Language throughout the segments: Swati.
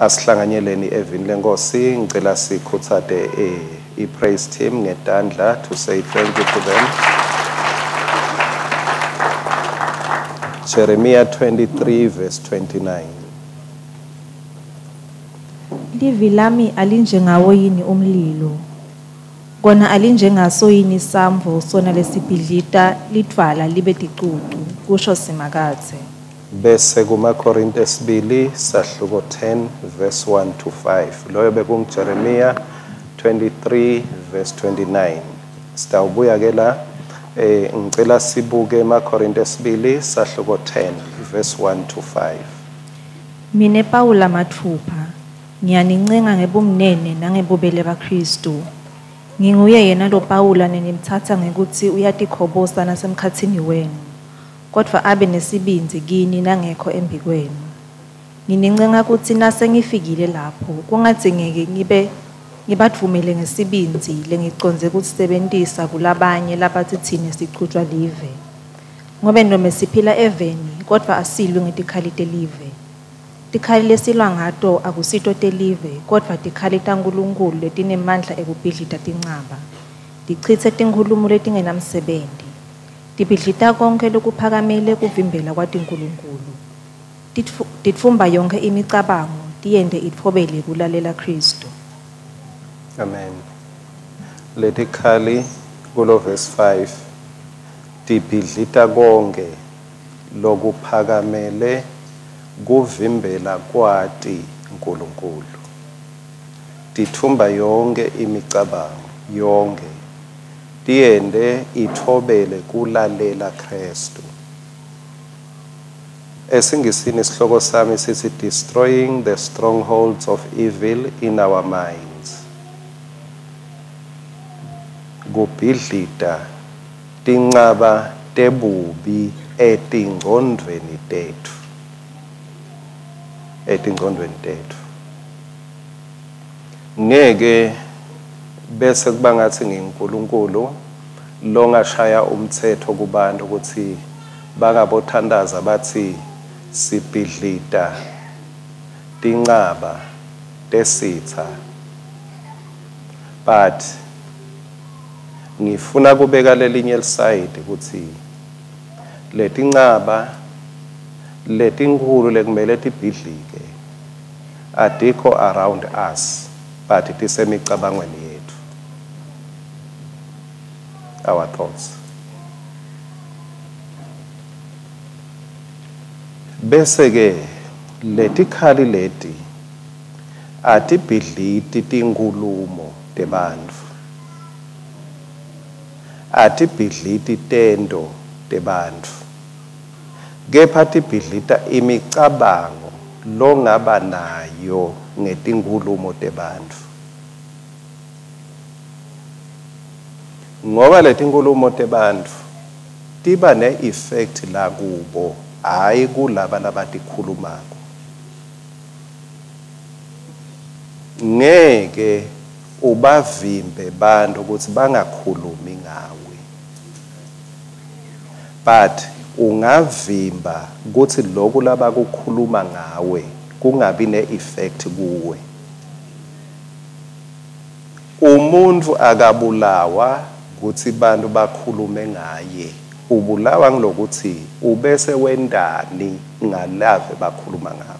Asihlanganyeleni evini lenkosi, ngicela sikhutsate i-praise team ngetandla to say thank you to them. Jeremiah 23 verse 29. Livi lami alinjengawo yini umlilo, kona alinjengaso yini samvo sona lesibhidlita lidvwala libe ticucu, kusho Simakadze. Bese kumaKorinte esibili sahluko 10 verse 1 to 5. Loyo bekunguJeremiah 23 verse 29. Sitawubuya ke la, ngicela sibuke emaKorinte esibili sahluko 10 verse 1 to 5. Mine Pawula matfupha ngiyanincenga ngebumnene nangebubele baKristu. Nginguye yena lo Pawula nenimtsatsa ngekutsi uyatikhobosa nasemkhatsini wenu, kodvwa abe nesibindzi kini nangekho embikwenu. Nginincenga kutsi nase ngifikile lapho kungadzingeki ngibe ngibadvumele ngesibindzi lengicondze kusebentisa kulabanye labatsi tsine sichutjwa live. Ngobe nome siphila eveni, kodvwa asilwi ngetikhali telive. Tikhali lesilwa ngato akusito telive, kodvwa tikhali taNkulunkulu letinemandla ekubhidlita tincaba. Tichitse tinkhulumo letingenamsebenti. Tibhidlita konkhe lokuphakamele kuvimbela kwati Nkulunkulu. Titfumba yonkhe imicabango, tiyente itfobele kulalela Kristu. Amen. Letikhali kulo verse 5 tibhidlita konke lokuphakamele kuvimbela kwati Nkulunkulu. Tithumba yonke imicabango, yonke. Tiyente itfobele kulalela Kristu. Esingisini isihloko sami sithi destroying the strongholds of evil in our minds. Kubhidlita tincaba tebubi etingcondvweni tetfu. Etingcondvweni tetfu. Ngeke bese kuba ngathi nginguNkulunkulu longashaya umthetho kubantu ukuthi bangabothandaza bathi sibhidlita tincaba tesitha. But ngifuna kubeka lelinye lisayidi ukuthi letincaba letinkhulu lekumele tibhidlike adikho around us, but tisemicabangweni yethu, our thoughts. Bese ke letikhali leti atibhidliti tinkhulumo tebantfu, atibhidliti tento tebantfu, kepha tibhidlita imicabango longaba nayo ngetinkhulumo tebantfu. Ngoba letinkhulumo tebantfu tiba ne-effect la kubo, hhayi kulaba labatikhulumako. Ngeke ubavimbe bantu ukuthi bangakhulumi ngawe, but ungavimba ukuthi lokhu labakukhuluma ngawe kungabi ne-effect kuwe. Umuntu akabulawa ukuthi bantu bakhulume ngaye, ubulawa ngilokuthi ubese wendani ngalave bakhuluma ngako.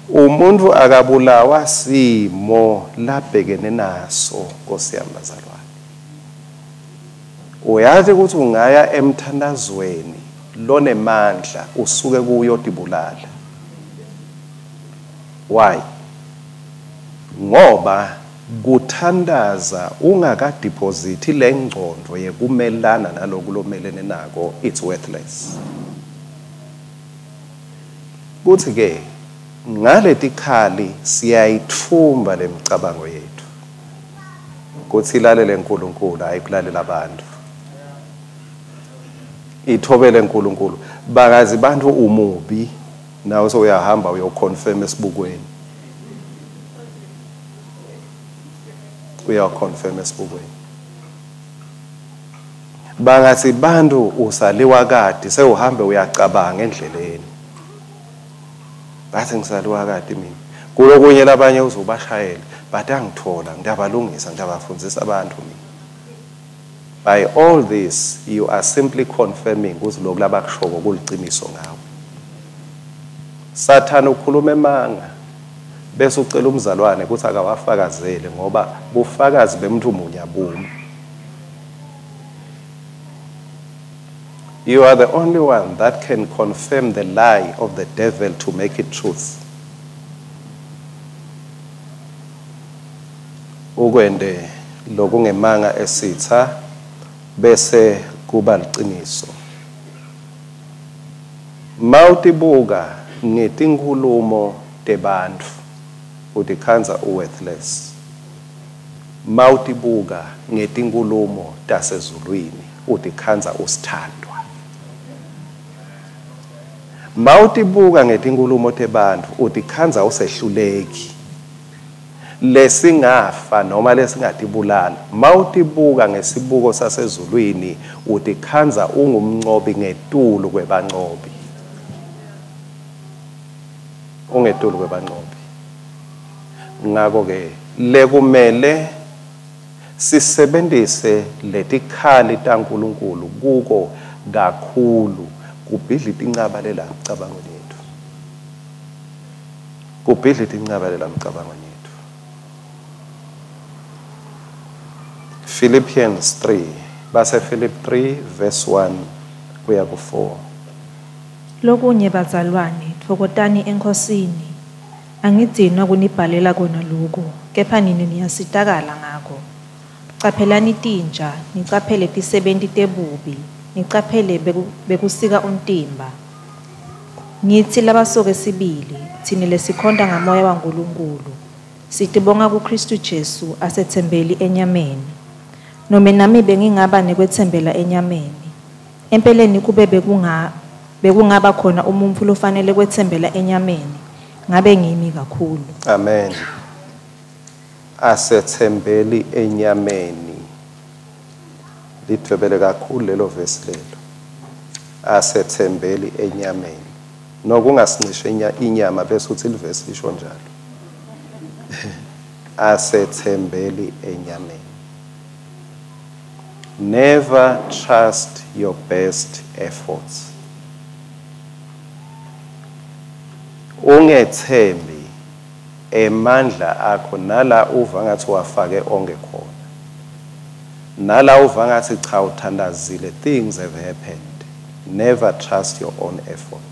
Umuntu akabulawa simo labhekene naso, Nkosi yami bazalwane. Uyazi ukuthi ungaya emthandazweni lonemandla usuke kuyotibulala. Why? Ngoba kuthandaza ungakadepositi lengcondvo yekumelana naloku lomelene nako, it's worthless. Kuthi ke ngaletikhali siyayithumba lemicabango yethu kuthi ilalele uNkulunkulu, hayi kulalela abantu. Ithobele uNkulunkulu. Bakazi bantu umubi, nawe sewuyahamba uyoconfirm esibukweni. Uyaconfirm esibukweni. Bangathi bantu usaliwa kade sewuhambe uyacabanga endleleni. Bathi ngisaliwa kade mina. Kulokunye labanye uzobashayela, batangithola, ngiyabalungisa, ngiyabafundzisa abantu mina. By all this, you are simply confirming ukuthi lokhu labakushoko kuliciniso ngawe. Sathane ukhuluma emanga bese ucela umzalwane ukuthi akawafakazele ngoba bufakazi bemuntu munye abumi. You are the only one that can confirm the lie of the devil to make it truth. Ukwende lokungemanga esitha bese kuba liqiniso. Mawutibuka ngetinkhulumo tebantfu utikhandza uworthless. Mawutibuka ngetinkhulumo tasezulwini utikhandza usithandwa. Mawutibuka ngetinkhulumo tebantfu utikhandza usehluleki. Lesingafa noma lesingatibulala. Mawutibuka ngesibuko sasezulwini utikhandza ungumncobi ngetulu kwebancobi. Ungetulu kwebancobi. Ngakho ke lekumele sisebenzise letikhali taNkulunkulu kuko kakhulu kubhidlita incaba lela mcabangweni yethu. Kubhidlita incaba lela mcabangweni yethu. Philippians 3, base Philip 3 verse 1 kuya ku 4. Lokunye bazalwane, tfokotani eNkhosini. Angidzinwa kunibhalela kona lokhu, kepha nine niyasitakala ngako. Caphelani tinja, nicaphele tisebenti tebubi, nicaphele bekusika umtimba. Ngitsi labasoke sibili, tsine lesikhonta ngamoya waNkulunkulu, sitibonga kuKhristu Jesu asetsembeli enyameni. Nome nami bengingaba nekwetsembela enyameni. Empeleni kube bekungaba khona umuntfu lofanele kwetsembela enyameni, ngabe ngimi kakhulu. Amen. Asetsembeli enyameni. Lidvwebele kakhulu lelo verse lelo. Asetsembeli enyameni. Nokungasincishe inyama bese uthi livesi lisho njalo. Asetsembeli enyameni. Never trust your best efforts. Ungethembi emandla akho nala uva ngathi wafake onke khona. Nala uva ngathi cha uthandazile, things have happened. Never trust your own effort.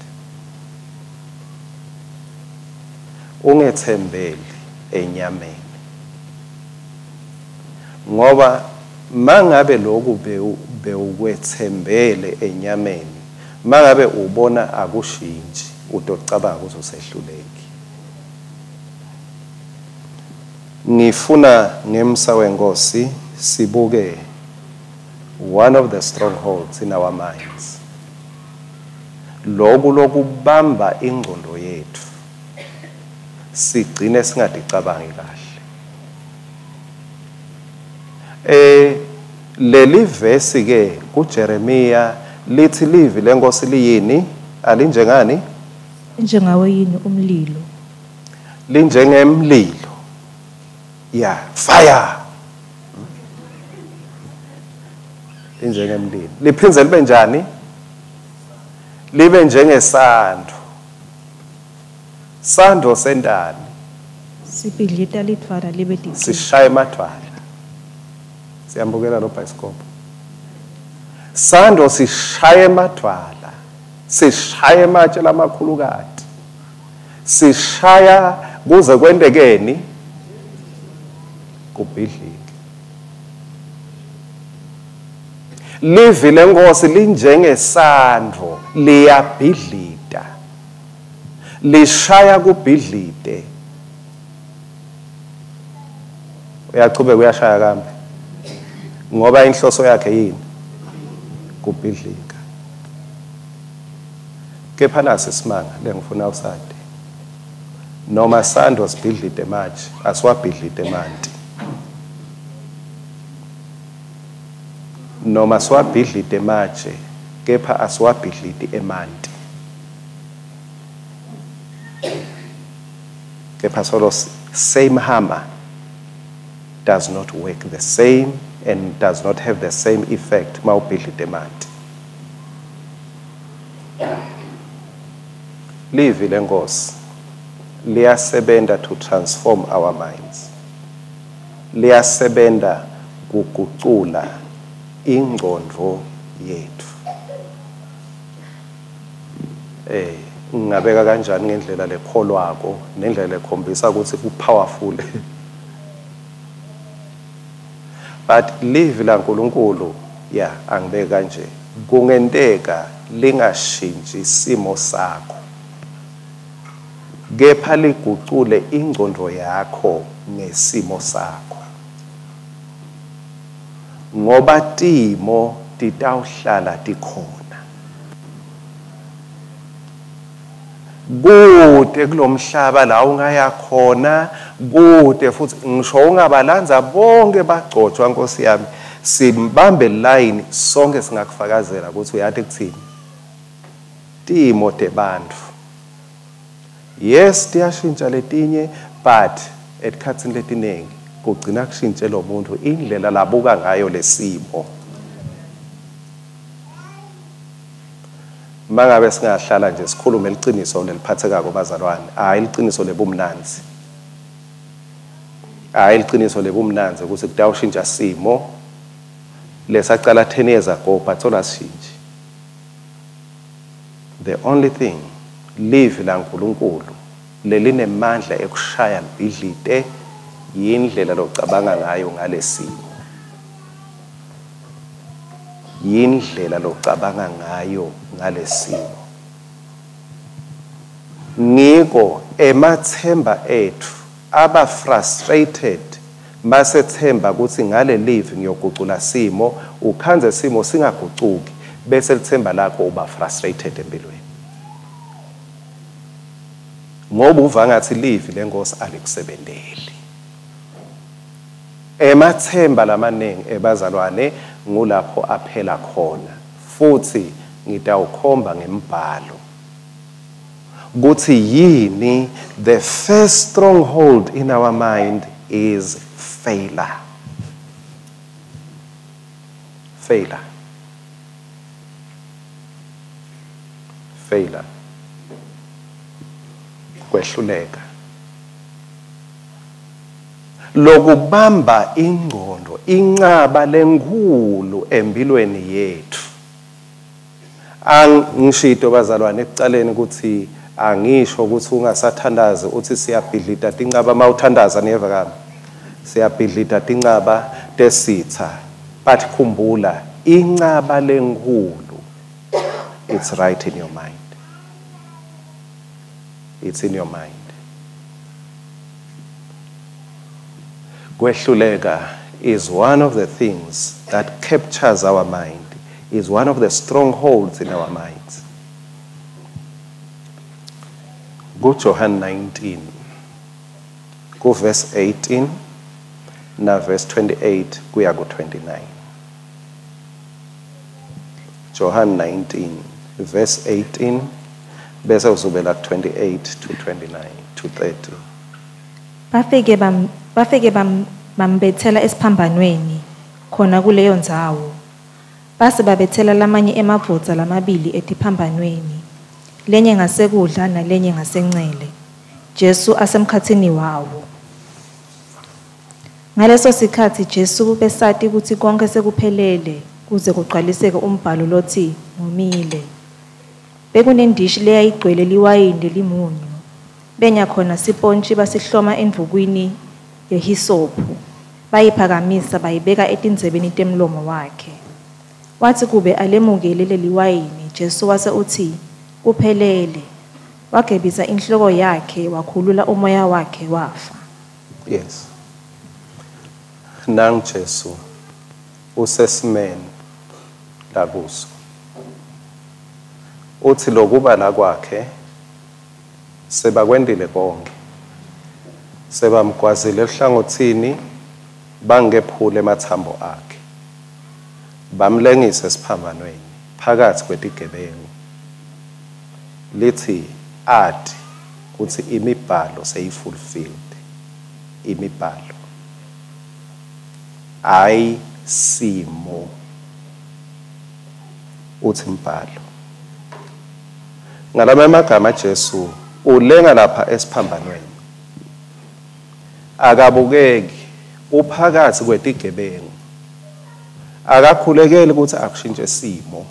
Ungethembeli enyameni. Ngoba mangabe lokhu bewukwethembele enyameni, mangabe ubona akushintshi, utocabanga ukuthi usehluleki. Ngifuna ngemsa wenkosi sibuke one of the strongholds in our minds. Lokhu lokubamba ingqondo yethu sigcine singadicabangi kahle. Leli verse ke kuJeremiya lithi livi lenkosi liyini? Alinjengani? Njengawe yini umlilo? Linjengemlilo. Yeah, fire. Linjengemlilo. Liphindze libe njani? Libe njengesando. Sando sendani? Sibhidlita lidvwala libe ticucu. Sishaya emadvwala. Siyambukela lo bioscope. Sando sishaya emadvwala. Sishaya ematshe lamakhulukati. Sishaya kuze kwentekeni? Kubhidlike. Livi lenkosi linjengesandvo, liyabhidlita. Lishaya kubhidlite. Uyachubeka uyashaya kambe. Ngoba inhloso yakhe yini? Kubhidlika. Kepha nasi simanga lengifuna usade. Noma sando sibhidlite manje, asiwabhidlite manti. Noma siwabhidlite manje, kepha asiwabhidliti emanti. Kepha solo same hammer does not work the same and does not have the same effect mawubhidlite emanti. Livi lenkosi liyasebenta to transform our minds. Liyasebenta kugucula ingcondvo yetfu. Ngingabeka kanjani ngendlela lekholwako nendlela lekhombisa ukuthi ku powerful. But livi laNkulunkulu, yeah, angibeka kanje, kungenteka lingashintshi isimo sakho, kepha ligucule ingcondvo yakho ngesimo sakho, ngoba timo titawuhlala tikhona. Kude kulomhlaba la ungaya khona, kude futhi ngisho ungabalanza bonke bagcotshwa Nkosi yami, simbambe line sonke singakufakazela ukuthi uyathi kuthini timo tebantfu. Yes, tiyashintsha letinye, but etikhatsini letiningi kugcina kushintshe lo muntu indlela labuka ngayo lesimo. Mangabe singahlala nje sikhulume liciniso leliphathekako bazalwane, hayi liciniso lebumnandzi, hayi liciniso lebumnandzi ukuthi kutawushintsha simo lesacala 10 years ago, but sola sishintshe. The only thing livi laNkulunkulu lelinemandla ekushaya libhidlite yindlela locabanga ngayo ngalesimo, yindlela locabanga ngayo ngalesimo. Ngiko emathemba ethu aba frustrated masethemba ukuthi ngale live ngiyogucula simo, ukhanze simo singagucuki, bese lithemba lakho uba frustrated empilweni, ngoba uva ngathi live lenkosi alikusebenteli. Emathemba lamaningi ebazalwane ngulapho aphela khona, futhi ngitawukhomba ngembhalo kuthi yini the first stronghold in our mind is failure. Failure. Failure. Kwehluleka. Lokubamba ingqondo, incaba lenkulu empilweni yethu. Angishito bazalwane ekucaleni ukuthi angisho ukuthi ungasathandazi uthi siyabhidlita tincaba mawuthandaza, niyeva kami, siyabhidlita tincaba tesitha, but khumbula incaba lenkulu, it's right in your mind. It's in your mind. Kwehluleka is one of the things that captures our mind, is one of the strongholds in our minds. Go John 19, go verse 18, na verse 28, kuya go 29. John 19, verse 18, bese uzubela 28 to 29 to 30. Bafike bambethela esiphambanweni khona kuleyo ndzawo. Base babethela lamanye emadvodza lamabili etiphambanweni, lenye ngasekudla nalenye ngasencele, Jesu asemkhatsini wawo. Ngaleso sikhatsi Jesu besati kutsi konke sekuphelele kuze kugcwaliseke umbhalo lotsi ngomile. Bekunendishi leyayigcwele liwayini lelimunyu, benya khona sipontji basihloma endvukwini yehisophu, bayiphakamisa bayibeka etindzebeni temlomo wakhe. Watsi kube alemukele leliwayini, Jesu wase utsi kuphelele. Wagebisa inhloko yakhe wakhulula umoya wakhe wafa. Yes. Nang Jesu usesimeni lakuso. Uthi lokuba la kwakhe sebakwendile konke, sebamgwazile ehlangothini, bangephule emathambo akhe, bamlengise esiphambanweni phakathi kwetigebengu. Lithi ati Kuthi imibhalo seyifulfilled. Imibhalo. Hayi simo. Uthi imbhalo. Ngalama amagama Jesu ulenga lapha esiphambanweni. Akabukeki, uphakathi kwetigebengu. Akakhulekeli ukuthi akushintshe simo.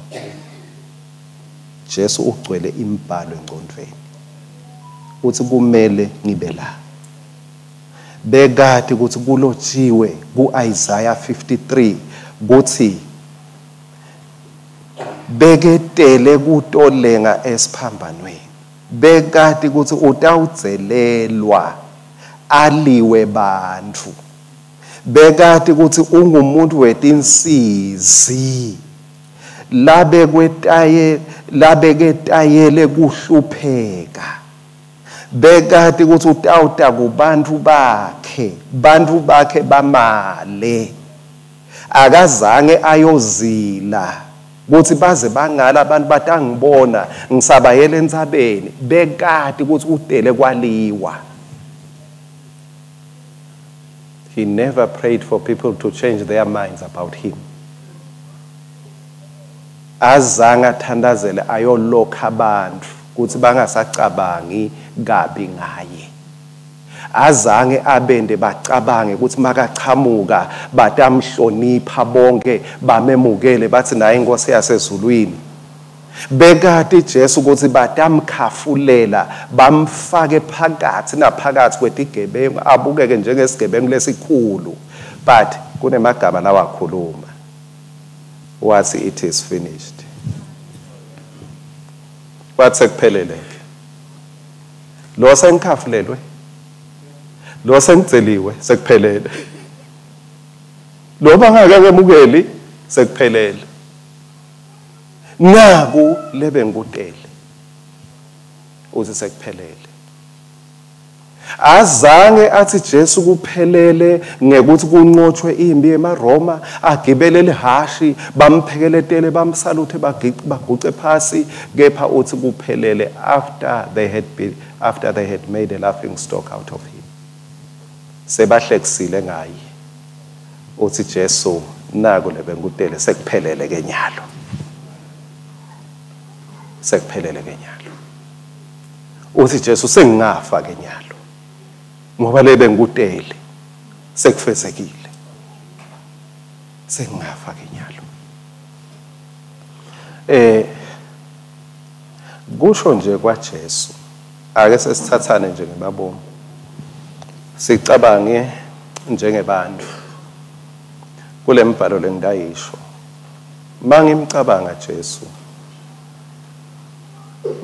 Jesu ugcwele imibhalo engcondweni. Uthi kumele ngibe la. Bekati ukuthi kulotshiwe kuIsaiah 53 kuthi beketele kutolenga esiphambanweni. Bekati ukuthi utawudzelelwa aliwe bantfu. Bekati ukuthi ungumuntu wetinsizi labeketayele kuhlupheka. Bekati ukuthi utawuta kubantu bakhe, bantu bakhe bamale. Akazange ayozila kuthi baze bangala abantu batangibona ngisabayele entsabeni. Bekati ukuthi udele kwaliwa. He never prayed for people to change their minds about him. Azange athandazele ayolokha abantu ukuthi bangasacabangi kabi ngaye. Azange abende bacabange ukuthi makachamuka batamhlonipha bonke bamemukele bathi naye inkosi yasezulwini. Bekati Jesu ukuthi batamkhafulela bamfake phakathi naphakathi kwetigebengu abukeke njengesigebengu lesikhulu. But kunemagama lawakhuluma wathi it is finished. Wathi sekuphelele. Lo sengikhafulelwe, lo sengiceliwe, sekuphelele. Lo bangakemukeli, sekuphelele. Naku lebe ngikutele uthi sekuphelele. Azange athi Jesu kuphelele ngekuthi kunqotshwe impi emaRoma, agibele lihashi, bamphekeletele, bamsaluthe, baguce phasi, kepha uthi kuphelele after they had made a laughing stock out of him. Sebahlekisile ngaye. Uthi Jesu naku lebengikutele sekuphelele ke nyalo. Sekuphelele ke nyalo. Uthi Jesu sengingafa ke nyalo. Ngoba lebe ngikutele sekufezekile. Sengingafa ke nyalo. Kusho nje kwaJesu ake sesithathane nje ngemabomu. Sicabange njengebantu. Kule mbhalo lengidayisho. Mangimcabanga Jesu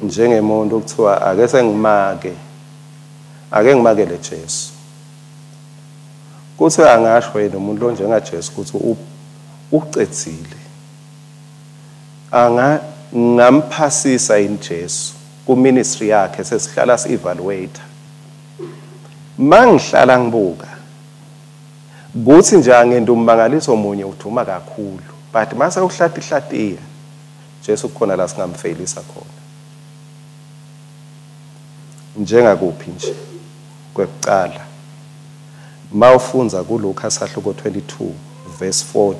njengemuntu kuthiwa ake sengimake, ake ngimakele Jesu. Kuthi angasho yena umuntu lonjenga Jesu ukuthi ucedzile. Anga ngamphasisa yini Jesu ku ministry yakhe sesihlala si evaluate. Mangihlala ngibuka kuthi nje angenda ummangaliso munye uduma kakhulu, but mase uhlati hlatiya Jesu kukhona la singamfailisa khona. Njengakuphi nje kwekuqala mawufunza kuLuka sahluko 22 verse 40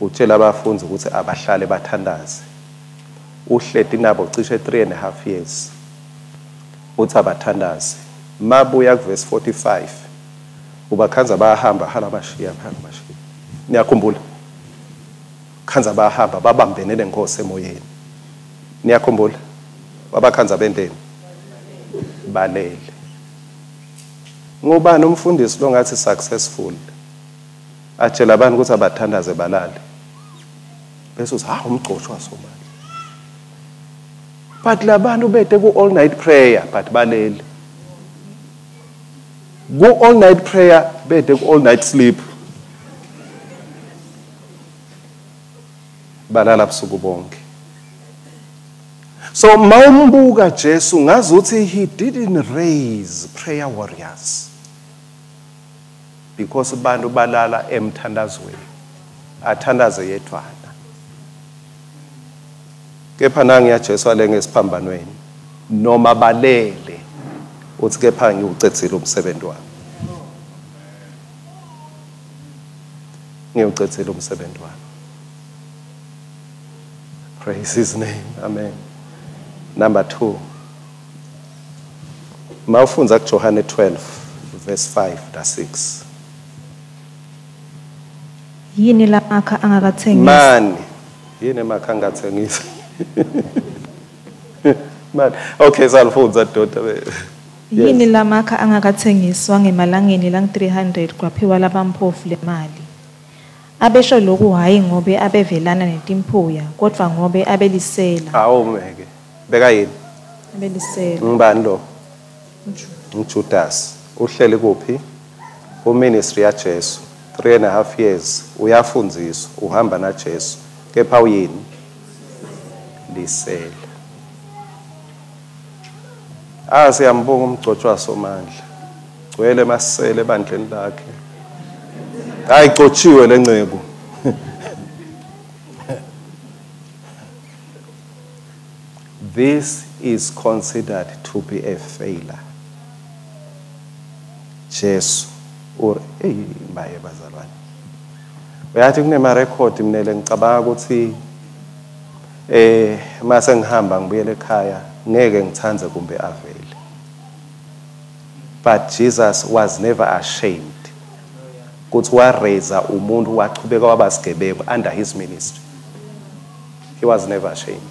utshela abafundi ukuthi abahlale bathandaze. Uhleti nabo cishe 3.5 years uthi abathandaze. Mabuya kuverse 45 ubakhanza bayahamba hala bashiya hala bashiya. Niyakhumbula khanza bayahamba babambene nenkosi emoyeni. Niyakhumbula babakhanza bendeni balele. Ngubani umfundisi lo ngathi successful atshela abantu ukuthi abathandaze balale bese uthi ha umgcoshwa somali. But labantu bede ku all night prayer but balele. Ku all night prayer bede ku all night sleep. Balala busuku bonke. So mawumbuka Jesu ngazuthi he didn't raise prayer warriors because bantu balala emthandazweni, athandaze yedwana. Kepha nangiya Jesu alenge esiphambanweni noma balele Uthi kepha ngiwucedzile umsebenzi wami. Ngiwucedzile umsebenzi wami. Praise his name. Amen. Number 2. Mawufundza kuJohane 12 verse 5 na 6. Yini lamakha angakathengisi? Mani. Yini emakha angathengisi? Mani. Okay, salifundza doda. Yini lamakha angakathengiswa ngemalangeni lang 300 kwaphiwa labamphofu lemali. Abesho lokhu hayi ngobe abevelana netimphuya kodwa ngobe abelisela. Awumeke. Beka yini? Abelisela. Ngibani lo? UJudas. Uhleli kuphi? Ku ministry ya Jesu. 3.5 years uyafundziswa, uhamba na Jesu. Kepha uyini? Lisela. Siyambonga umgcotshwa somandla. Gcwele masele ebandleni lakhe. Hayi gcotshiwe lencebo. This is considered to be a failure. Jesu or hey maye bazalwane. Uyathi kunema record minele ngicabanga ukuthi mase ngihamba ngibuyele ekhaya ngeke ngithanze kumbe avele. But Jesus was never ashamed. Kuthi wa raise umuntu wachubeka wabasigebengu under his ministry. He was never ashamed.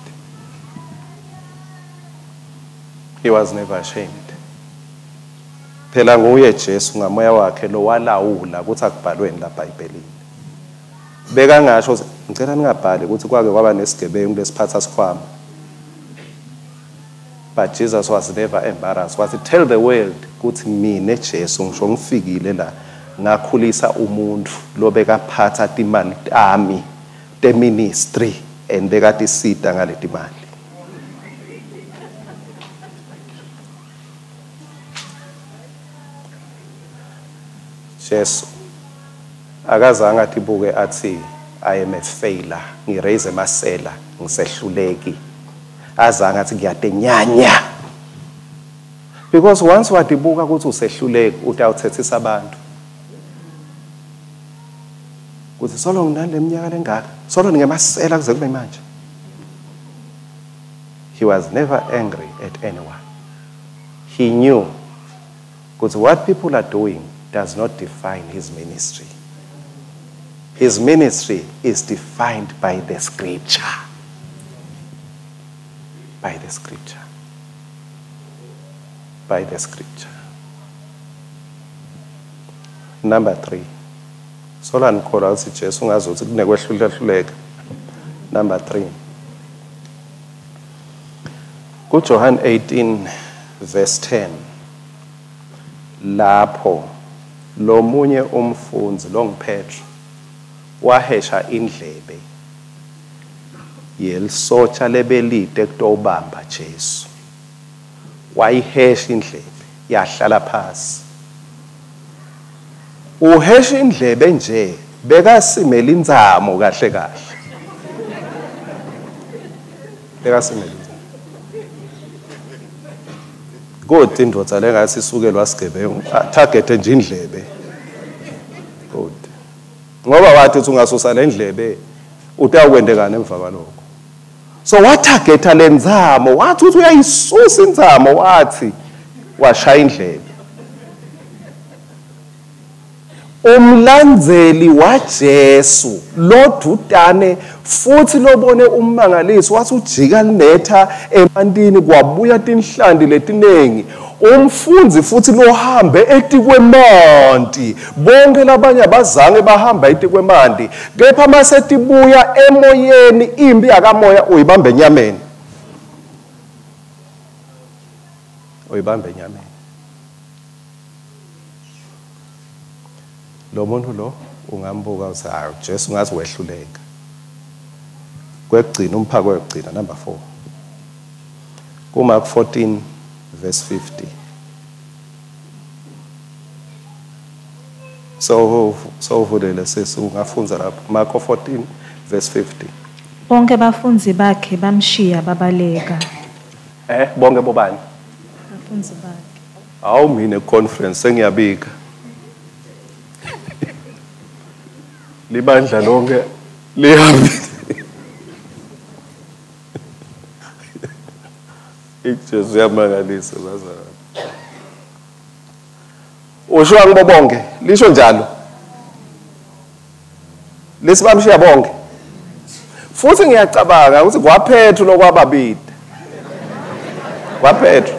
He was never ashamed. Phela nguye Jesu ngamoya wakhe lo walawula ukuthi akubhalweni la eBhayibhelini. Beka ngasho ngicela ningabhali ukuthi kwake kwaba nesigebengu lesiphatha sikhwama. But Jesus was never embarrassed. Wathi tell the world ukuthi mina Jesu ngisho ngifikile la ngakhulisa umuntu lobekaphatha timali tami te ministry and bekatisita ngaleti mali. Jesu akazange atibuke athi I am a failure, ngiraise emasela, ngisehluleki. Azange athi ngiyatenyanya. Because once wadibuka ukuthi usehluleki utawuthethisa abantu. Kuthi solo nginale minyaka lengaka, solo ngingemasela kuze kube manje. He was never angry at anyone. He knew because what people are doing does not define his ministry. His ministry is defined by the scripture. By the scripture. By the scripture. Number 3. Sola nikholwa ukuthi Jesu ungazuthi kunekwehluleka. Number 3. KuJohn 18 verse 10. Lapho lomunye umfundzi longuPetro wahesha indlebe yelisotsha lebelide kutobamba Jesu. Wayihesha indlebe yahlala phasi. Uhesha indlebe nje bekasimela inzamo kahle kahle. Bekasimela inzamo. Kodwa indvodza lengathi isukelwa sigebengu target nje indlebe. Kodwa ngoba wathi uthi ungasusa lendlebe utawukwendekana emva kwalokho. So watargeta lenzamo, wathi uthi uyayisusa inzamo, wathi washaya indlebe. Umlandzeli waJesu lodutane futhi lobone ummangaliso wathi ujika linetha emantini kwabuya tinhlanti letinengi. Umfundzi futhi lohambe etikwemanti, bonke labanye abazange bahamba etikwemanti, kepha masetibuya emoyeni impi yakamoya uyibambe enyameni. Uyibambe enyameni. Lo muntu lo ungambuka uthi hayi Jesu ngathi wehluleka. Kwekugcina umphako wekugcina number 4. KuMark 14 verse 50. So vulele sisi ungafunza lapho Mark 14 verse 50. Bonke bafundzi bakhe bamshiya babaleka. Bonke bobani? Bafundzi bakhe. Awu mina conference sengiyabika. Libandla lonke lihambile. Ijesu yamangalisa bazalwane. Usho angibo bonke, lisho njalo. Lesibamshiya bonke. Futhi ngiyacabanga ukuthi kwaPetru lokwababili. KwaPetru.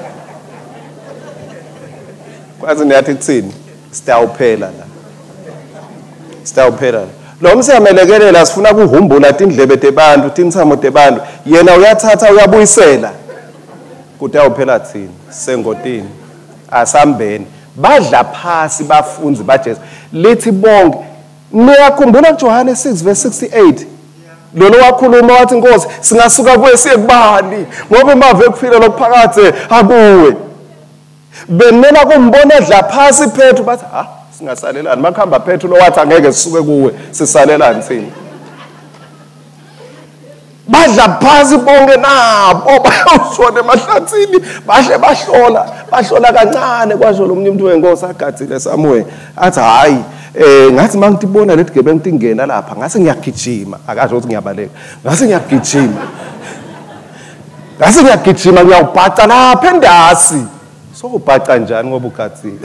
Kwazi niyathi kuthini? Sitawuphela la. Sitawuphela la. Lo msiyamelekelela sifuna kuhumbula tindlebe tebantu, tintsamo tebantu. Yena uyathatha uyabuyisela. Kutawuphela thini? Sengotini. Asambeni. Badla phasi bafunzi baJesu. Lithi bonke niyakhumbula kuJohane 6 verse 68. Lolo wakhuluma wathi Nkosi singasuka kuwe siye kubani ngoba imave ekuphila lokuphakade akuwe. Benela kumbona edla phasi Petru bathi ha singasalelani makuhamba Petru lo wathi angeke sisuke kuwe sisalelani thina. Badla phasi bonke nabo bayawushona emahlathini bahle bahlola kancane kwasho lo munye umuntu wenkosi agadzile somewhere athi hayi ngathi mangitibona leti gebengu tingena lapha ngase ngiyagijima akasho ukuthi ngiyabaleka ngase ngiyagijima ngase ngiyagijima ngiyawubhaca lapha endasi. So ubhaca njani ngoba ugadzile?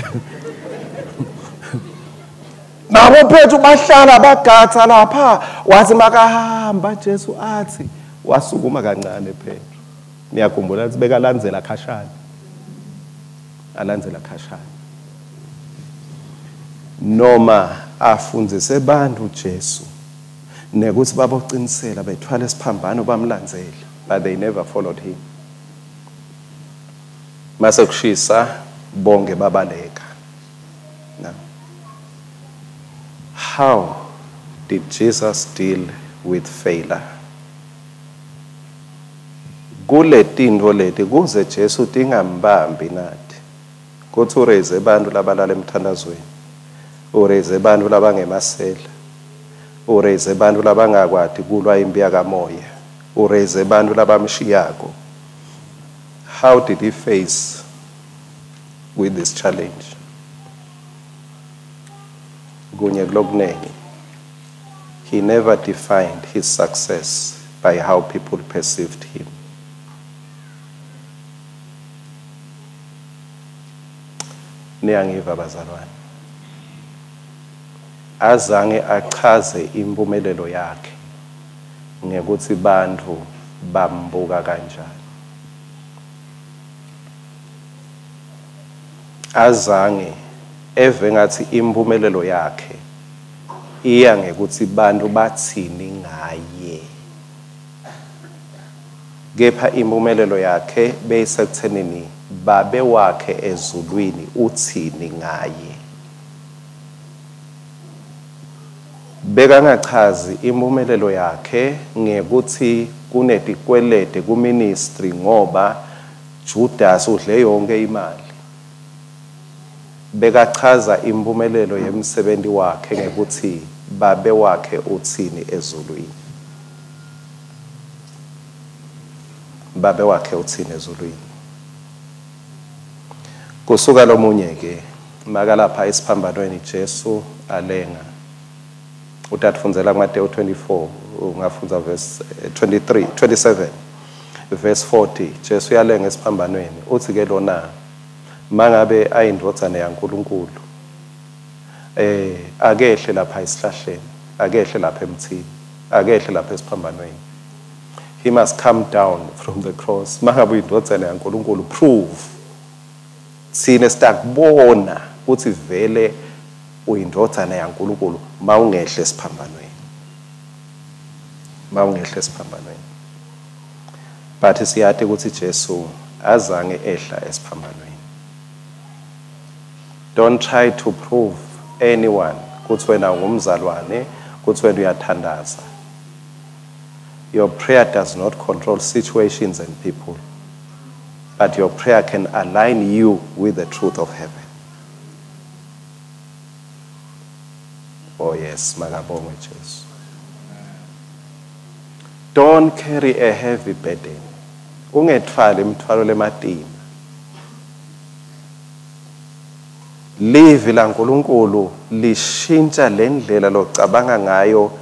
Nabo Petru bahlala bagatha lapha wathi makahamba Jesu athi wasukuma kancane Petru. Niyakhumbula ukuthi bekalandzela khashana. Alandzela khashana. Noma afundzise bantu Jesu nekuthi baboqinisela bethwala isiphambano bamlandzele, but they never followed him. Mase kushisa bonke babaleka. Now, how did Jesus deal with failure? Kule tintfo leti kuze Jesu tingambambi nathi. Kuthi ureze abantu labalala emthandazweni. Ureze abantu labangemasela. Ureze abantu labangakwati kulwa impi yakamoya. Ureze abantu labamshiyako. How did he face with this challenge? Kunye kulokunengi. He never defined his success by how people perceived him. Niyangiva bazalwane. Azange achaze impumelelo yakhe ngekuthi bantu bambuka kanjani. Azange eve ngathi impumelelo yakhe iya ngekuthi bantu bathini ngaye. Kepha impumelelo yakhe beyisekuthenini babe wakhe ezulwini uthini ngaye. Bekangachazi impumelelo yakhe ngekuthi kunetikwelede kuministry ngoba Judas udle yonke imali. Bekachaza impumelelo yemsebenzi wakhe ngekuthi babe wakhe uthini ezulwini. Babe wakhe uthini ezulwini. Kusuka lomunye ke makalapha esiphambanweni Jesu alenga. Utatfundzela kuMateyu 24 ungafundza verse 23 27 verse 40. Jesu uyalenga esiphambanweni uthi ke lona mangabe ayindvodzana yaNkulunkulu akehle lapha esihlahleni, akehle lapha emthini, akehle lapha esiphambanweni. He must come down from the cross. Mangabe uyindvodzana yaNkulunkulu prove sine sitakubona ukuthi vele uyindvodzana yaNkulunkulu mawungehle esiphambanweni. Mawungehle esiphambanweni. But siyati ukuthi Jesu azange ehla esiphambanweni. Don't try to prove anyone ukuthi wena ungumzalwane, ukuthi wena uyathandaza. Your prayer does not control situations and people, but your prayer can align you with the truth of heaven. Oh yes, makabongwe Jesu. Don't carry a heavy burden. Ungethwali imithwalo lematima. Livi laNkulunkulu lishintsha lendlela locabanga ngayo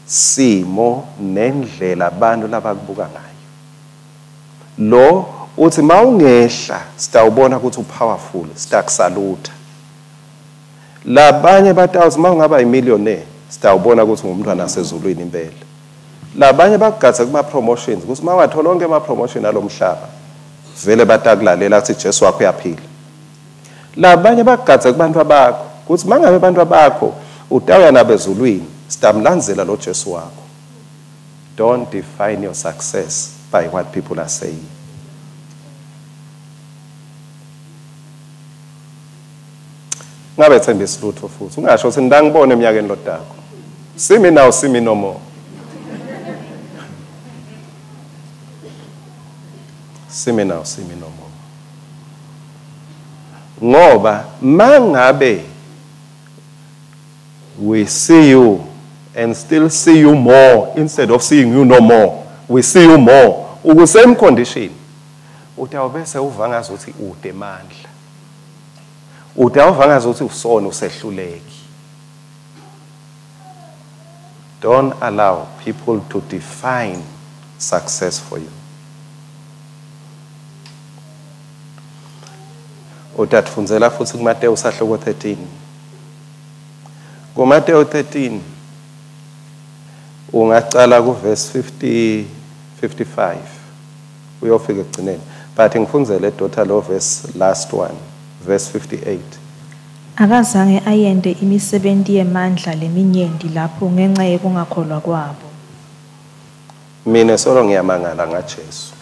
simo nendlela abantu labakubuka ngayo. Lo uthi mawungehla sitawubona ukuthi upowerful, sitakusalutha. Labanye batawuthi mawungaba imillionaire sitawubona ukuthi ungumntwana wasezulwini impela. Labanye bakugatse kuma promotions ukuthi mawathola onke ama promotion alomhlaba vele batakulalela athi Jesu wakho uyaphila. Labanye bakugatse kubantu abakho ukuthi mangabe abantu abakho utawuya nabezulwini sitamlandzela lo Jesu wakho. Don't define your success by what people are saying. Ngabe thembisa lutho futhi ungasho ukuthi ngangibona eminyakeni lodako. See me now, see me no more. See me now, see me no more. Ngoba mangabe we see you and still see you more instead of seeing you no more, we see you more uku same condition, utawubese uva ngazuthi ude mandla, utawuva ngazuthi usona usehluleki. Don't allow people to define success for you. Utatfundzela futhi kuMateyu sahluko 13. KuMateyu 13 ungacala kuverse 50 55 uyofika ekugcineni, but ngifundzele daughter lo verse last one, verse 58. Akazange ayente imisebenti yemandla leminyenti lapho ngenxa yekungakholwa kwabo. Mina solo ngiyamangala ngaJesu.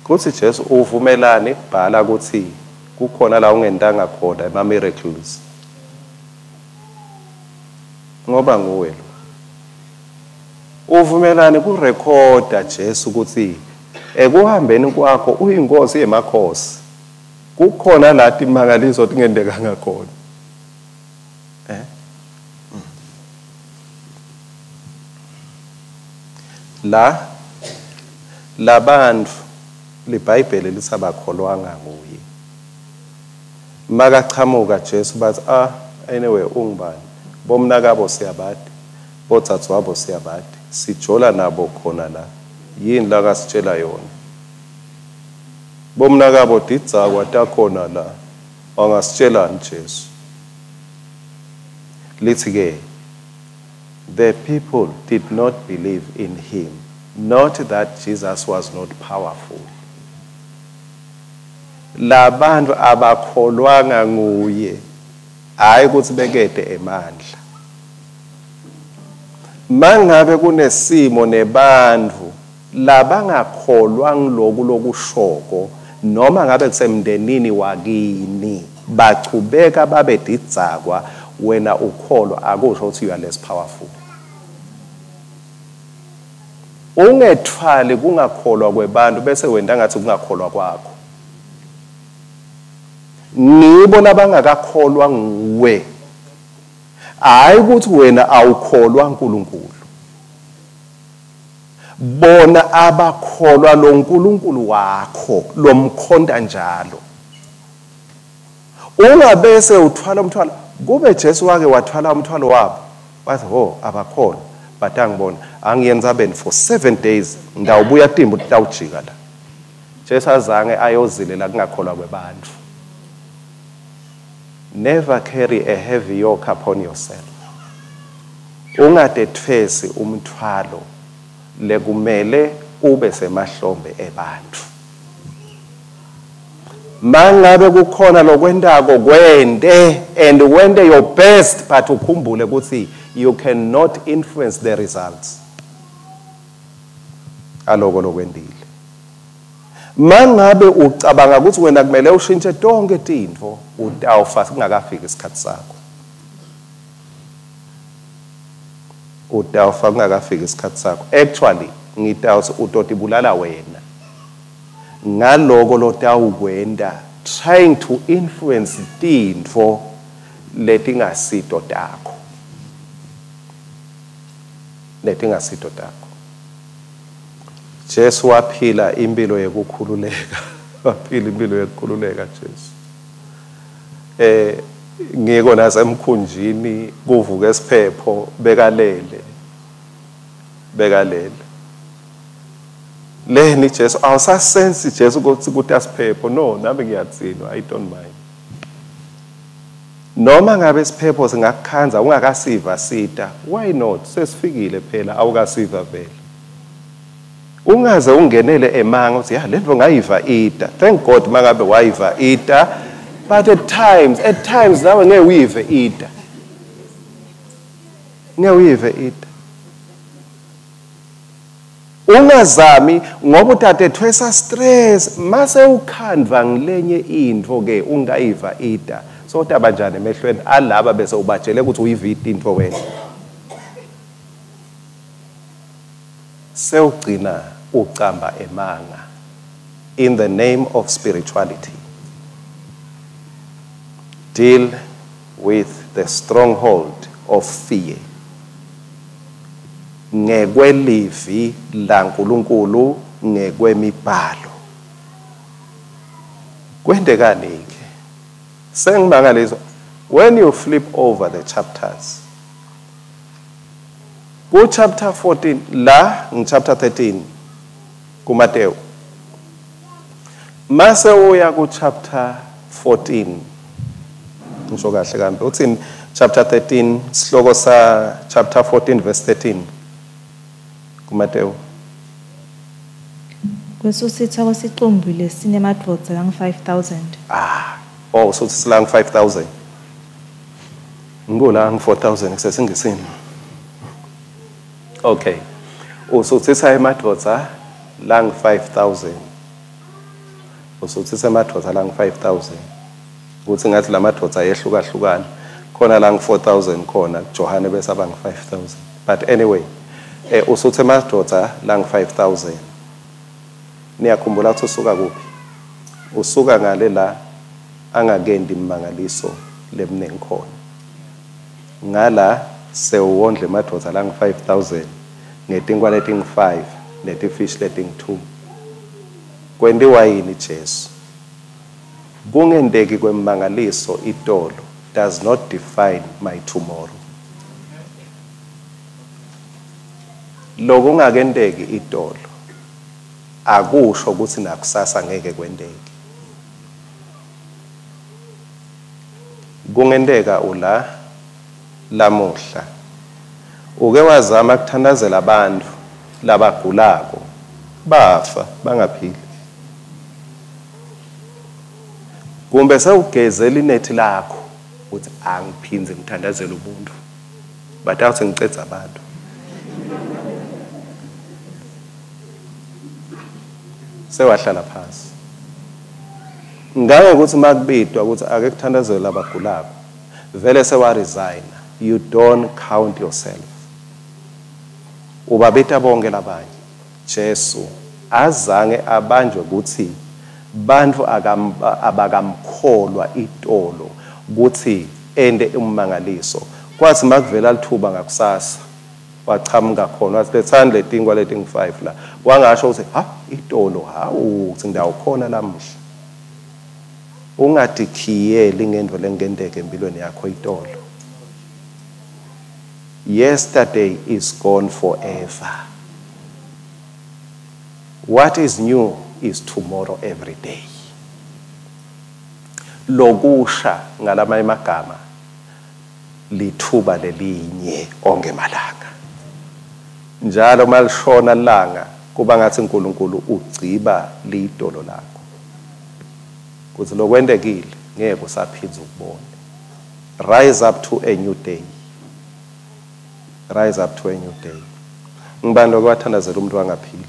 Kuthi Jesu uvumelane kubhala ukuthi kukhona la ungentanga khona ema miracles. Ngoba nguwe lo. Uvumelane kurekhoda Jesu ukuthi ekuhambeni kwakho uyinkosi yemakhosi. Kukhona la timangaliso tingendekanga khona. La labantu liBhayibheli lisabakholwanga nguye. Makachamuka Jesu bathi anyway ungubani? Bomnakabo siyabadi, bodzadzewabo siyabadi, sijola nabo khona la. Yini la kasitshela yona? Bomnakabo didzakwa takhona la, angasitshelani Jesu? Lithi ke the people did not believe in him, not that Jesus was not powerful. Labantu abakholwanga nguye, hayi ukuthi bekede emandla. Mangabe kunesimo nebantu labangakholwa ngiloku lokushoko, noma ngabe kusemndenini wakini, bachubeka babe didzakwa, wena ukholwa akusho ukuthi you are less powerful. Ungethwali kungakholwa kwebantu bese wenda ngathi kungakholwa kwakho. Nibo labangakakholwa nguwe, hayi ukuthi wena awukholwa uNkulunkulu. Bona abakholwa lo nkulunkulu wakho lomkhonta njalo. Ungabese uthwala umthwalo. Kube Jesu wake wathwala umthwalo wabo, wathi ho abakholwa, but angibona angiyenza beni for 7 days ndawubuya timbu tawujika la. Jesu azange ayozilela kungakholwa kwebantu. Never carry a heavy yoke upon yourself. Ungadethwesi umthwalo lekumele ube semahlombe ebantu. Mangabe kukhona lokwentako kwente and wente your best, but ukhumbule ukuthi you cannot influence the results. Aloko lokwendile. Mangabe ucabanga ukuthi wena kumele ushintshe tonke tintfo, utawufa kungakafiki isikhathi sakho. Utawufa kungakafiki isikhathi sakho. Actually ngitawuthi utotibulala wena ngaloko lotawukwenta, trying to influence tintfo letingasito takho. Letingasito takho. Jesu waphila impilo yekukhululeka. Waphila impilo yekukhululeka Jesu. Ngiko nasemkhunjini kuvuka esiphepho bekalele. Bekalele. Leni Jesu awusasensi Jesu ukuthi kutasiphepho. No, nami ngiyatsinwa, I don't mind. Noma ngabe isiphepho singakukhanza ungakasiva sita, why not? Sesifikile phela, awukasiva vele. Ungaze ungenele emanga uthi ya lento ngayiva ita. Thank God mangabe wayiva ita, but at times nawe ngeke uyive ita. Ngeke uyive ita. Ungazami ngoba utatethwesa stress mase ukhandva ngilenye into ke ungayiva ita. So utabanjani emehlweni alaba bese ubajele ukuthi uyivide into wena. Sewugcina ucamba emanga in the name of spirituality. Deal with the stronghold of fear. Ngekwelivi laNkulunkulu ngekwemibhalo. Kwendekani ke? Sengimangaliswa when you flip over the chapters. Ku chapter 14 la ngi chapter 13 kuMateyu. Mase uya ku chapter 14. Ngisho kahle kambe uthini chapter 13 sihloko sa chapter 14 verse 13 kuMateyu. Kwesusitha kwesicumbi lesinemadvodza lang 5000. Oh, so it's lang 5000. Ngula ang 4000 kusesingisini. Okay. Usuthisa emadvodza lang 5000. Usuthisa emadvodza lang 5000. Kuthi ngathi lamadvodza ayehlukahlukana. Khona lang 4000 khona Johane bese abang 5000. But anyway, usuthe emadvodza lang 5000. Niyakhumbula ukuthi usuka kuphi? Usuka ngale la angakendi imangaliso lemningi khona. Ngala sewondle emadvodza lang 5000 ngetinkwa leting 5 netifish leting 2. Kwentiwa yini Jesu? Kungenteki kwemangaliso itolo does not define my tomorrow. Lokungakenteki itolo akusho ukuthi nakusasa ngeke kwenteke. Kungenteka ula lamuhla uke wazama kuthandazela abantu labagulako bafa bangaphili, kumbe sewugezela inethi lakho uthi angiphinze ngithandazele ubuntu batawuthi ngicedza abantu. Sewahlala phansi ngangokuthi makubidwa ukuthi ake kuthandazele labagulako vele sewa resign. You don't count yourself. Ubabita bonke labanye. Jesu azange abanjwe ukuthi bantu abakamkholwa itolo ukuthi ende ummangaliso. Kwathi makuvela lithuba ngakusasa wachamuka khona wathi lethani letinkwa leting 5 la. Wangasho ukuthi ha itolo hawu uthi ndawo khona lamuhla. Ungadikhiyeli ngento lengenteke empilweni yakho itolo. Yesterday is gone forever. What is new is tomorrow every day. Lokusha ngalamanye amagama lithuba lelinye onke malanga. Njalo malishona langa kuba ngathi uNkulunkulu ugciba lidolo lakho. Kuthi lokwentekile ngeke usaphinza ukubona. Rise up to a new day. Rise up to a new day. Ngibani lokwathandazela umuntu angaphili?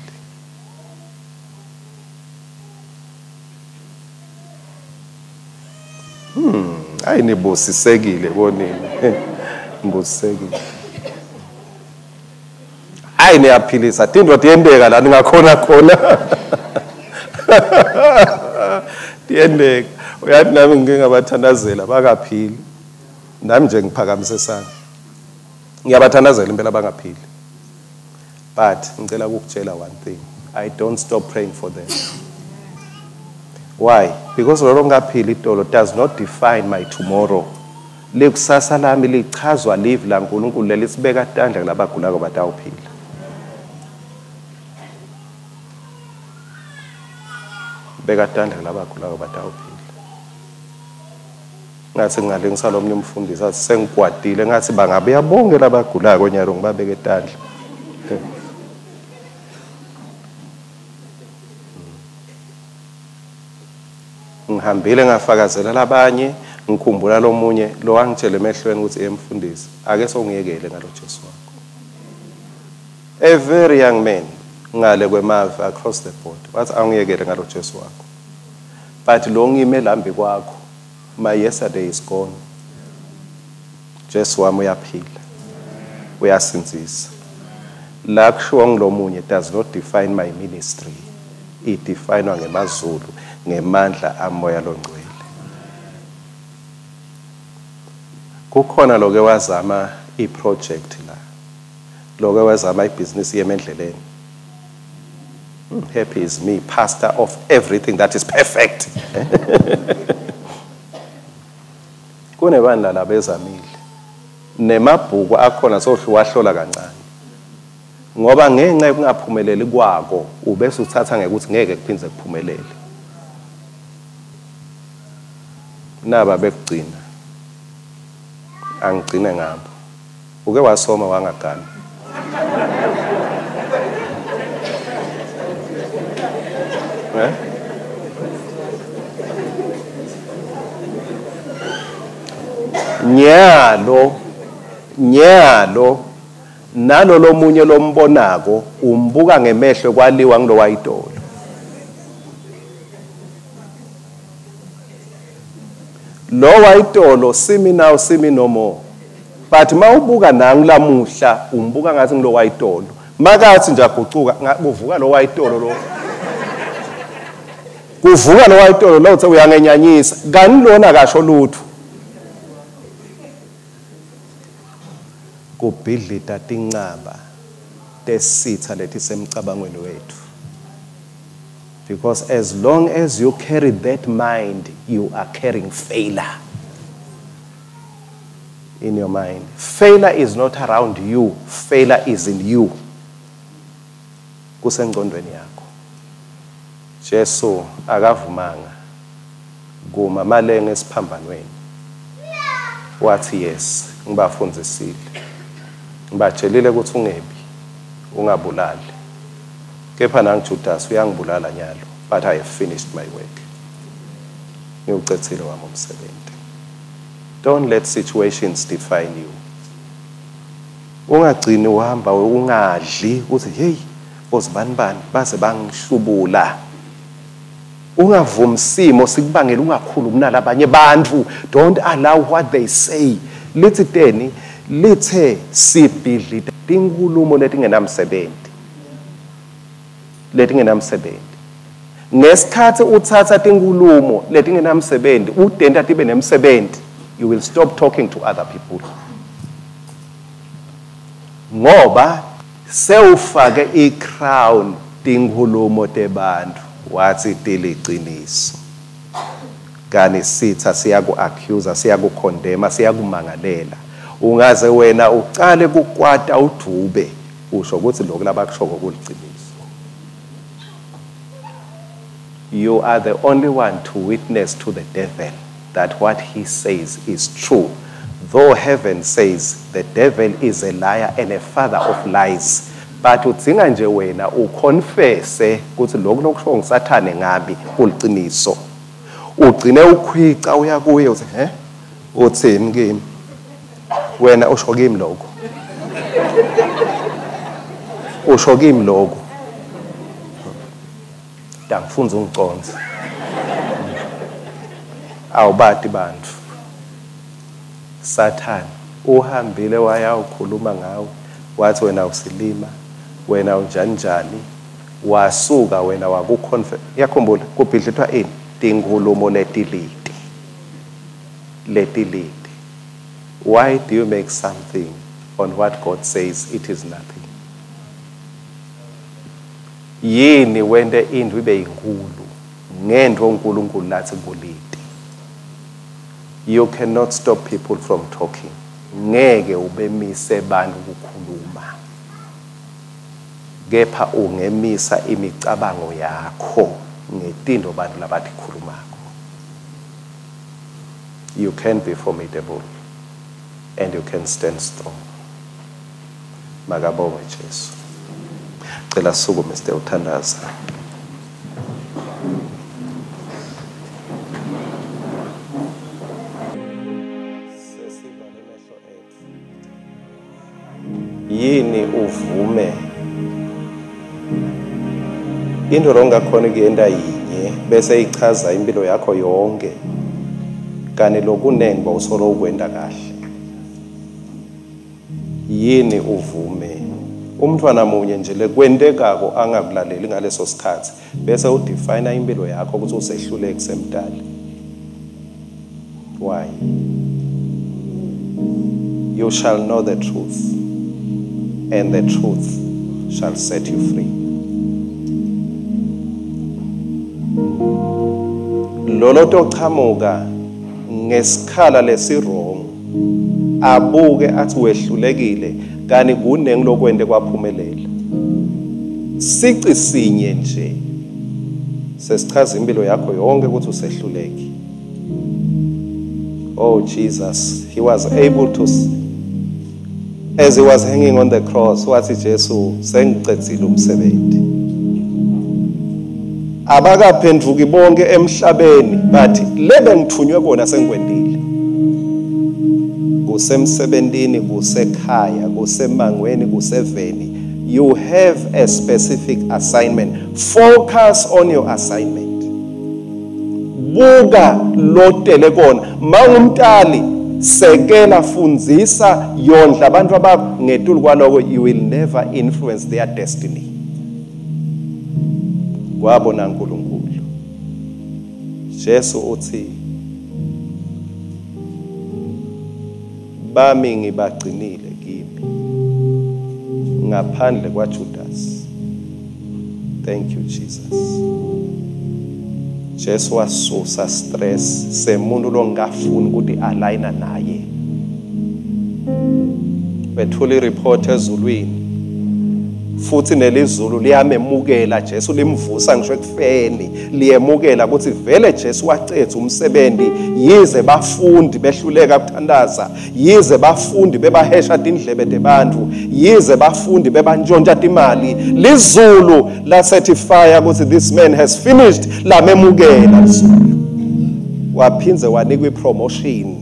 Ayi nibusisekile konini. Nibusisekile. Ayi niyaphilisa. Tindwa tiyendeka la ningakhona khona. Tiyendeka. Uyathi nami ngike ngabathandazela bakaphili. Nami nje ngiphakamise isandla. Ngiyabathandazela impela bangaphili. But ngicela ukukutshela one thing. I don't stop praying for them. Why? Because lolo ngaphila itolo does not define my tomorrow. Likusasa lami lichazwa live laNkulunkulu lelisibeka tandla kulabagulako batawuphila. Beka tandla kulabagulako batawuphila. Ngathi ngingalingisa lomnye umfundisi athi sengikwatile, ngathi bangabuya bonke labagulako nyalo ngibabeke tandla. Ngihambile ngafakazela labanye, ngikhumbula lomunye lo wangitshela emehlweni ukuthi emfundisi ake songiyekele ngalo Jesu wakho. A very young man ngale kwemave across the board wathi angiyekele ngalo Jesu wakho. But lo ngime lambi kwakho, my yesterday is gone. Jesu wami uyaphila, uyasindzisa. La kushiwo ngilomunye does not define my ministry. It definwa ngemazulu ngemandla amoya longcwele. Kukhona loke wazama i-project la, loke wazama ibhizinisi yemendleleni. Happy is me, pastor of everything that is perfect. Kunebandla labezamile nemabhuku akhona sohluwahlola kancane, ngoba ngenxa yokungaphumeleli kwako ubese uthatha ngekuthi ngeke kuphindze kuphumelele. Naba bekugcina angigcine ngabo. Uke wasoma wangagana. Nyalo nyalo nalo lomunye lombonako umbuka ngemehlo kwaliwa ngilowayitolo. Lo wayitolo simi now simi no more. But mawubuka nangu lamuhla umbuka ngathi ngilowayitolo. Makathi nje agucuka kuvuka lo wayitolo lo. Kuvuka lo wayitolo lo uthe uyangenyanyisa. Kani lona kasho lutho. Kubhidlita tincaba tesitha letisemcabangweni wethu. Because as long as you carry that mind, you are carrying failure in your mind. Failure is not around you. Failure is in you. Kusengqondweni yakho. Jesu akavumanga kuma malenge esiphambanweni. Wathi yes, ngibafundzisile. Ngibatshelile ukuthi ungebi, ungabulali. Kepha nangu Judas uyangibulala nyalo, but I have finished my work. Ngiwucedzile wami umsebenzi. Don't let situations define you. Ungagcini uhamba ungadli uthi hey bozibani bani baze bangihlubula. Ungavumi simo sikubangela ungakhulumi nalabanye bantu. Don't allow what they say. Lithi teni lithe sibhidlita tinkhulumo letingenamsebenzi. Letingenamsebenzi. Ngesikhathi uthatha tinkhulumo letingenamsebenzi udenta tibe nemsebenzi, you will stop talking to other people. Ngoba sewufake i-crown tinkhulumo tebantu wathi tiliciniso. Kani sitha siyaku-accuse, siyakukhondema, siyakumangalela. Ungaze wena ucale kukwata udvube usho ukuthi lokhu labakushoko kuliciniso. You are the only one to witness to the devil that what he says is true. Though heaven says the devil is a liar and a father of lies, but udzinga nje wena uconfesse ukuthi lokhu lokusho ngisathane ngabi kuliciniso. Ugcine ukhwica uya kuye uthi he uthini kimi? Wena usho kimi lokho. Usho kimi lokho. Dangifunza ungiconze. Awubati bantu. Sathane uhambile waya ukhuluma ngawe wathi wena usilima, wena unjani njani, wasuka wena wakuconfess. Yakhumbula kubhidlithwa ini? Tinkhulumo letilite. Letilite. Why do you make something on what God says it is nothing? Yini wente into ibe inkulu Ngento uNkulunkulu lathi kulite. You cannot stop people from talking. Ngeke ubemise bantu ukukhuluma. Kepha ungemisa imicabango yakho ngetindo bantu labatikhulumako. You can be formidable and you can stand strong. Makabongwe Jesu. Cela sukume sitewuthandaza. Sesivale emehlo etfu. Yini uvume into longakhona kuyenta yinye bese ichaza impilo yakho yonke kani lokunengi bawusolo ukwenta kahle. Yini uvume umntwana munye nje lekwentekako angakulaleli ngaleso sikhathi bese udefine impilo yakho ukuthi usehluleki semdali. Why? You shall know the truth, and the truth shall set you free. Lolo tochamuka ngesikhala lesi-wrong abuke athi wehlulekile kani kunengi lokwente kwaphumelela. Sici sinye nje sesichaza impilo yakho yonke ukuthi usehluleki. Oh Jesus, he was able to, as he was hanging on the cross, wathi Jesu sengicedzile umsebenzi. Abakaphenduki bonke emhlabeni bathi lebe ngithunywe kona sengikwendile. Kusemsebentini, kusekhaya, kusemangweni, kuseveni. You have a specific assignment. Focus on your assignment. Buka lotele kona. Mangumtali sekela, fundzisa, yondla abantu abakho. Ngetulu kwaloko you will never influence their destiny. Kwabona uNkulunkulu. Jesu uthi bami ngibagcinile kimi ngaphandle kwaJudas. Thank you Jesus. Jesu wasusa stress semuntu longafuni ukuthi aligna naye. Bethula ireport ezulwini futhi nelizulu liyamemukela Jesu, limvusa ngisho ekufeni, liyemukela ukuthi vele Jesu wacetha umsebenzi. Yize bafundi behluleka ukuthandaza, yize bafundi bebahesha tindlebe tebantu, yize bafundi bebantshontsha timali, lizulu lacertify ukuthi this man has finished. Lamemukela lizulu, waphindze wanikwa ipromotion.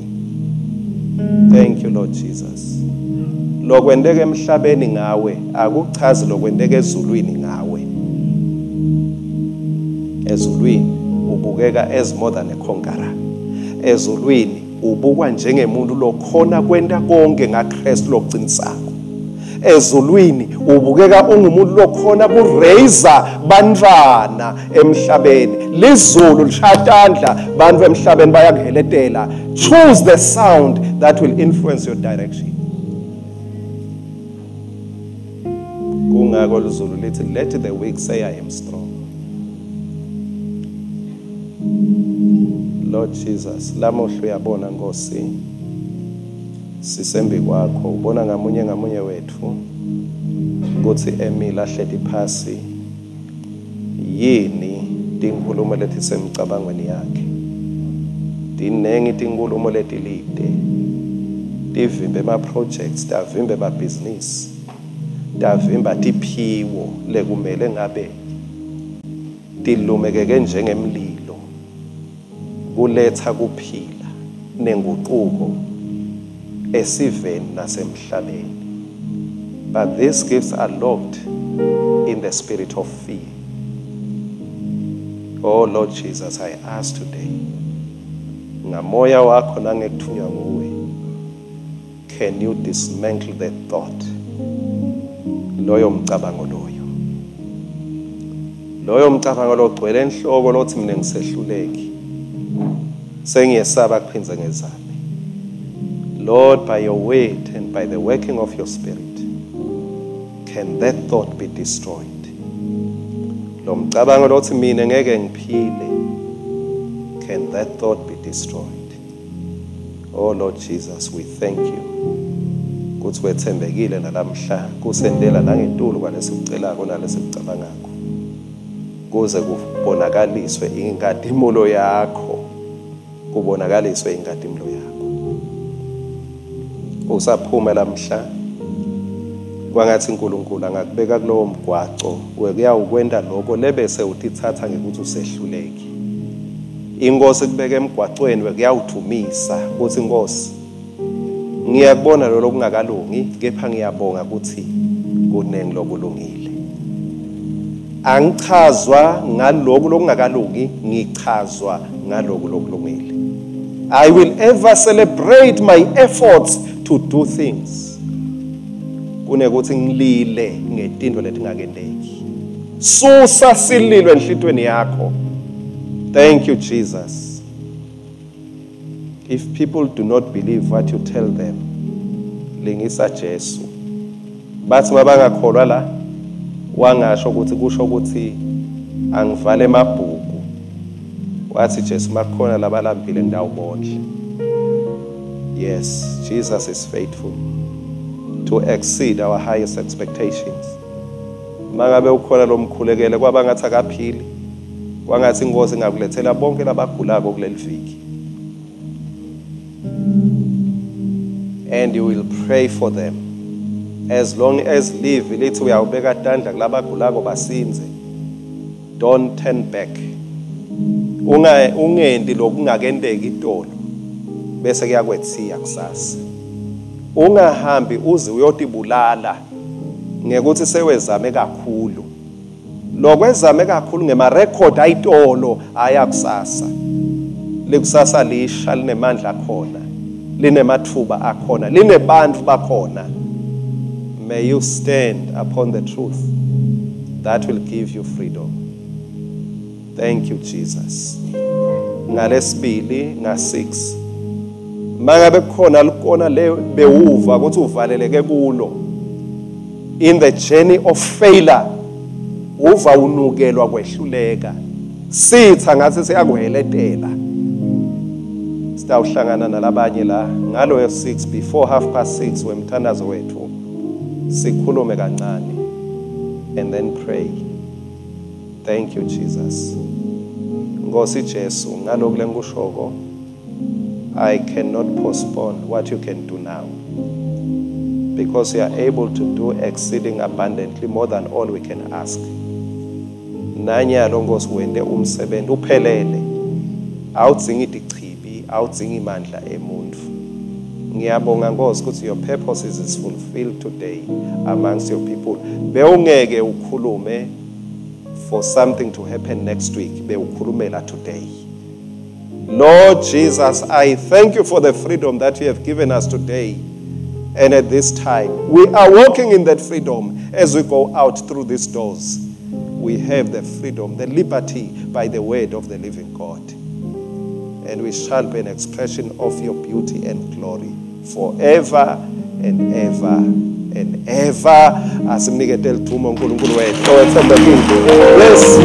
Thank you Lord Jesus. Lokwenteka emhlabeni ngawe akuchazi lokwenteka ezulwini ngawe. Ezulwini ubukeka as more than a conqueror. Ezulwini ubukwa njengemuntu lokhona kwenta konke ngaKristu lokuqinisako. Ezulwini ubukeka ungumuntu lokhona kuraise bantwana emhlabeni. Lizulu lishatandla bantu emhlabeni bayakuheletela. Choose the sound that will influence your direction. Kungako lizulu lithi let the weak say I am strong. Lord Jesus, lamuhla uyabona Nkosi, sisembi kwakho, ubona ngamunye ngamunye wethu ukuthi emile ahleti phasi yini tinkhulumo letisemcabangweni yakhe. Tinengi tinkhulumo letilide tivimbe ema-projects, tavimbe emabhizinisi, tavimba tiphiwo lekumele ngabe tilumekeke njengemlilo kuletha kuphila nenguquko esiveni nasemhlabeni. But these gifts are locked in the spirit of fear. Oh Lord Jesus, I ask today, ngamoya wakho nangekuthunywa nguwe, can you dismantle the thought, loyo mcabango, loyo mcabango logcwele enhloko lothi mina ngisehluleki, sengiyesaba kuphindze ngezame. Lord, by your word and by the working of your spirit, can that thought be destroyed? Lo mcabango lothi mina ngeke ngiphile. Can that thought be destroyed? Oh Lord Jesus, we thank you. Kutsi wetsembekile nalamhla kusentela nangetulu kwalesikucelako nalesikucabangako, kuze kubonakaliswe inkatimulo yakho, kubonakaliswe inkatimulo yakho. Usaphuma lamhla, kwangatsi uNkulunkulu angakubeka kulowo mgwaco wekuyawukwenta lokho lebese utitsatsa ngekuthi usehluleki. Inkosi kubeka emgwacweni wekuyawudvumisa kutsi Nkosi, ngiyakubona lo lokungakalungi, kepha ngiyabonga kutsi kunengi lokulungile. Angichazwa ngaloku lokungakalungi, ngichazwa ngaloku lokulungile. I will ever celebrate my efforts to do things kunekuthi ngilile ngetintfo letingakenteki. Susa sililo enhlitweni yakho. Thank you, Jesus. If people do not believe what you tell them, lingisa Jesu. Bathi mabangakholwa la, wangasho ukuthi kusho ukuthi angivale emabhuku. Wathi Jesu, makukhona labalambile ngitawubondla. Yes, Jesus is faithful to exceed our highest expectations. Mangabe ukhona lomkhulekele kwaba ngathi akaphili, kwangathi inkosi ingakulethela bonke labagulako kuleli viki. And you will pray for them. As long as live lithi uyawubeka tandla kulabagulako basinze. Don't turn back. Unga ungendi lokungakenteki itolo bese kuyakwethiya kusasa. Ungahambi uze uyotibulala ngekuthi sewezame kakhulu. Lokwezame kakhulu ngema record ayitolo aya kusasa. Likusasa lisha linemandla akhona, linemathuba akhona, linebantfu bakhona. May you stand upon the truth that will give you freedom. Thank you, Jesus. Ngalesibili nga6, mangabe kukhona likona le bewuva ukuthi uvaleleke kulo in the journey of failure, uva unukelwa kwehluleka, sitha ngathi siyakuheletela, sitawuhlangana nalabanye la ngaloyo 6 before 6:30 wemthandazo wethu, sikhulume kancane and then pray. Thank you, Jesus. Nkosi Jesu, ngalokhu lengikushoko, I cannot postpone what you can do now, because you are able to do exceeding abundantly more than all we can ask. Nanyalo Nkosi wente umsebenzi uphelele, awudzingi tichibi, awudzingi imandla emuntu. Ngiyabonga Nkosi ukuthi your purposes is fulfilled today amongst your people. Bewungeke ukhulume for something to happen next week, bewukhulumela today. Lord Jesus, I thank you for the freedom that you have given us today. And at this time, we are walking in that freedom as we go out through these doors. We have the freedom, the liberty by the word of the living God. And we shall be an expression of your beauty and glory forever and ever and ever. Asimnikete lithumo uNkulunkulu wethu owethembekile. Yes.